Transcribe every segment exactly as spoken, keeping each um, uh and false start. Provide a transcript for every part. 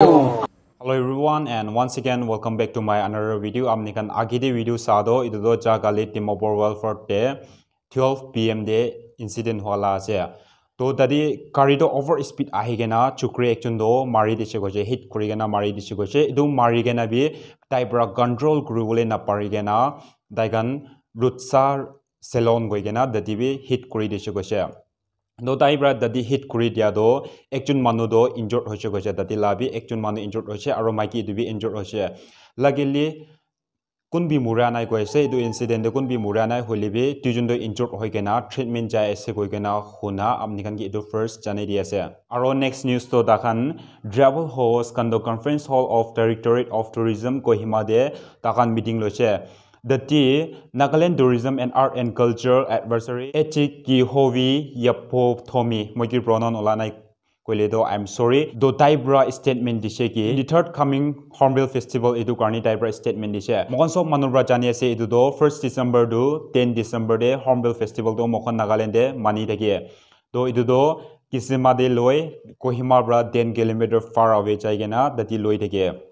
Hello everyone, and once again welcome back to my another video. Apni khan age te video sa toh, etu toh Jagali Dimapur Welfare te twelve P M te incident hua la ase. To tate gari toh over speed ahi kena chukri ekjon toh mari dise koise, hit kuri kena mari dise koise. Etu mari kena bi tai para control kuri bole na pari kena tai khan Rutsa Salon koi kena tate bi hit kuri dise koise. To tai para tate hit kuri dia toh ekjon manu toh injured hoise koise, tate la bi ekjon manu injured hoise aro maiki etu bi injured hoise. Luckily kun bi mura nai koi ase, etu incident te kun bi mura nai, hoile bi duijon toh injured hoi kena treatment jai ase koi kena huna apni khan ke etu first janai di ase. Aro next news toh takhan tribal host khan toh Conference Hall of Directorate of Tourism Kohima te takhan meeting loise. Tate Nagaland Tourism and Art and Culture Advisory H K Hovi Yapo Thomi, moi ki pronoun ola nai koile toh I'm sorry. To tai para statement dise ki the third coming Hornbill Festival etu karni tai para statement dise. Moikhan sob manu para jani ase etu toh first December to ten December te Hornbill Festival toh moikhan Nagaland te mani thake. To etu toh Kisima te loi Kohima para ten kilometer far away jai kena tate loi thake.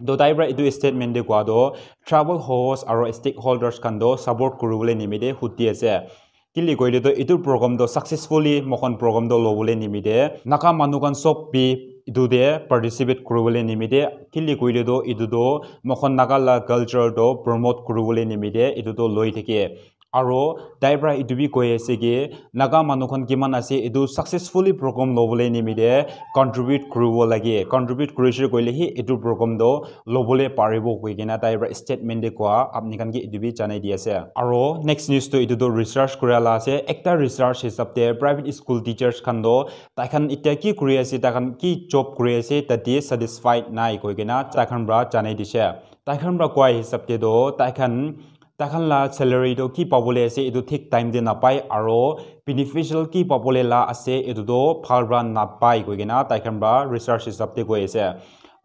To tai para etu statement te koa toh tribal host aro stakeholders khan toh support kuri bole nimite huti ase. Kile koile toh etu program toh successfully moikhan program toh lobole nimite Naga manu khan sob bi etu te participate kuri bole nimite, kile koile toh etu toh moikhan Naga la culture toh promote kuri bole nimite etu toh loi thake. Aro tai para etu bi koi ase ki Naga manu khan kiman ase etu successfully program lobole nimite contribute kuribo lage, contribute kurise koile hi etu program toh lobole paribo koi kena tai para statement te koa apni khan ke etu bi janai di ase. Aro next news toh etu toh research kura la ase. Ekta research hisab te private school teachers khan toh tai khan itya ki kuri ase, tai khan ki job kuri ase, tate satisfied nai koi kena tai khan para janai dise. Tai khan para koa hisab te toh tai khan tai khan la salary toh ki pabole ase etu thik time te napai aro beneficial ki pabole la ase etu toh bhal para napai koi kena tai khan para research hisab te koi ase.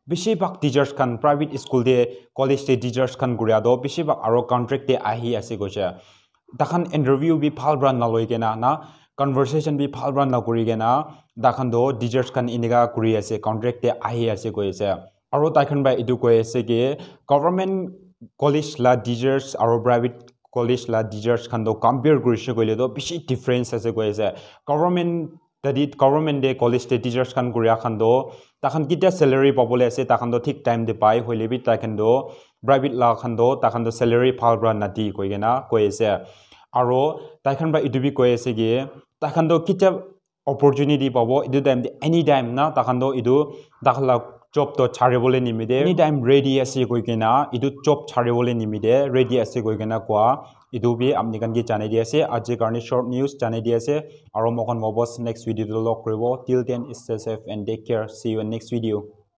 Bishi bhag teachers khan private school te, college te teachers khan kuria toh bishi bhag aro contract te ahi ase koise. Tai khan interview bi bhal para naloi kena na conversation bi bhal para nakuri kena tai khan toh teachers khan enika kuri ase, contract te ahi ase koi ase. Aro tai khan para etu koi ase ki government college la teachers aro private college la teachers khan toh compare kurise koile toh bishi difference ase koi ase. Government tate government te college te teachers khan kuria khan toh tai khan kitia salary pabole ase, tai khan toh thik time te pai, hoile bi tai khan toh private la khan toh tai khan toh salary bhal para nadi koi kena koi ase. Aro tai khan para etu bi koi ase ki tai khan toh kitia opportunity pabo etu time te, anytime na tai khan toh etu tai khan la job toh chari bole nimite anytime ready ase koi kena, etu job chari bole nimite ready ase koi kena koa etu bi apni khan ke janai di ase. Aji karne short news janai di ase, aro moikhan wapas next video te log kuribo. Till then, stay safe and take care. See you in next video.